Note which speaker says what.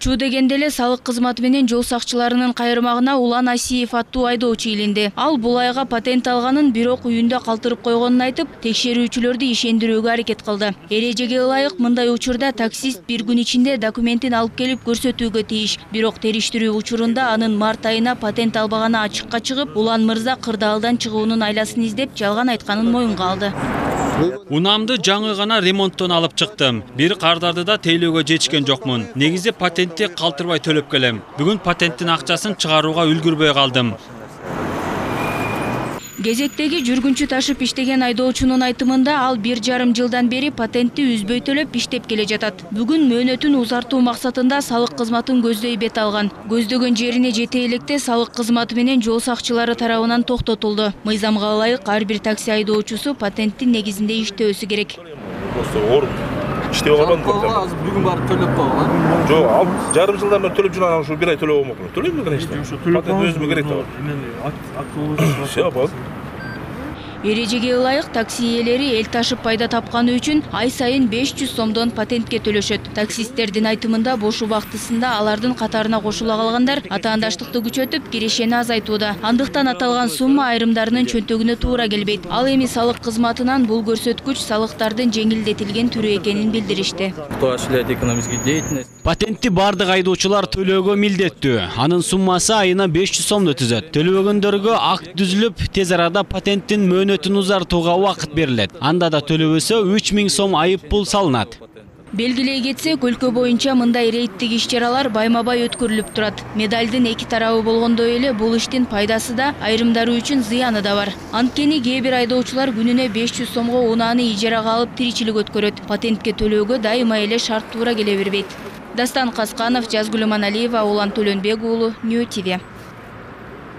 Speaker 1: Чуу дегенде эле салык кызматы менен жол сакчыларынын кайрымагына Улан Асиев аттуу айдоочу илинди. Ал бул айга патент алганын, бирок үйүндө калтырып койгонун айтып, текшерүүчүлөрдү ишендирүүгө аракет кылды. Эрежеге ылайык мындай учурда таксист бир күн ичинде документин алып келип көрсөтүүгө тийиш. Бирок териштирүү учурунда анын март айына патент албаганы ачыкка чыгып, Улан мырза кырдаалдан чыгуунун айласын издеп жалган айтканын моюнга алды.
Speaker 2: Унамды жаңы гана ремонттон алып чыктым. Бир кардарды да тейлөөгө жетишкен жокмун. Негизи патентти калтырбай төлөп келем. Бүгүн патенттин акчасын чыгарууга үлгүрбөй калдым.
Speaker 1: Кезектеги жүргүнчү ташып иштеген айдоочунун айтымында ал 1,5 жылдан бери патентти үзбөй төлөп иштеп келе жатат. Бүгүн мөөнөтүн узартуу максатында салык кызматын көздөй бет алган. Көздөгөн жерине жете электе салык кызматы менен жол сакчылары тарабынан токтотулду. Мыйзамга ылайык ар бир такси айдоочусу патенттин негизинде иштөөсү керек.
Speaker 3: İşte o kadar
Speaker 4: Bugün barıp төлөп койгон.
Speaker 3: Жок, ал жарым жылдан бери төлөп жүргөн ушул бир ай төлөп болмокмун. Төлөйм эле işte. Патент өзүмө керек да. Все, бол.
Speaker 1: Эрежеге ылайык такси ээлери эл ташып пайда тапканы үчүн ай сайын 500 сомдон патентке төлөшөт. Таксисттердин айтымында бош убактысында алардын катарына кошула калгандар атаандаштыкты күчөтүп, кирешени азайтууда. Андыктан аталган сумма айрымдарынын чөнтөгүнө туура келбейт. Ал эми салык кызматынан бул көрсөткүч салыктардын жеңилдетилген түрү экенин билдиришти.
Speaker 4: Кто осуществляет экономическую деятельность?
Speaker 2: Патентти бардык айдоочулар төлөөгө милдеттүү. Анын суммасы айына 500 сомду түзөт. Төлөбөгөндөргө акт түзүлүп, тез арада патенттин мөөнөтүн узартууга убакыт берилет. Анда да төлөбөсө 3000 сом айып пул салынат.
Speaker 1: Белгилей кетсек, өлкө боюнча мындай рейдтик иш-чаралар байма-бай өткөрүлүп турат. Медалдын эки тарабы болгондой эле бул иштин пайдасы да, айрымдары үчүн зыяны да бар. Анткени кээ бир айдоочулар күнүнө 500 сомго унааны ижарага алып тиричилик өткөрөт. Патентке төлөөгө дайыма эле шарт туура келе бербейт. Дастан Касканов, Жазгүл Маналиева, Улан Төлөнбек уулу, Нью ТВ.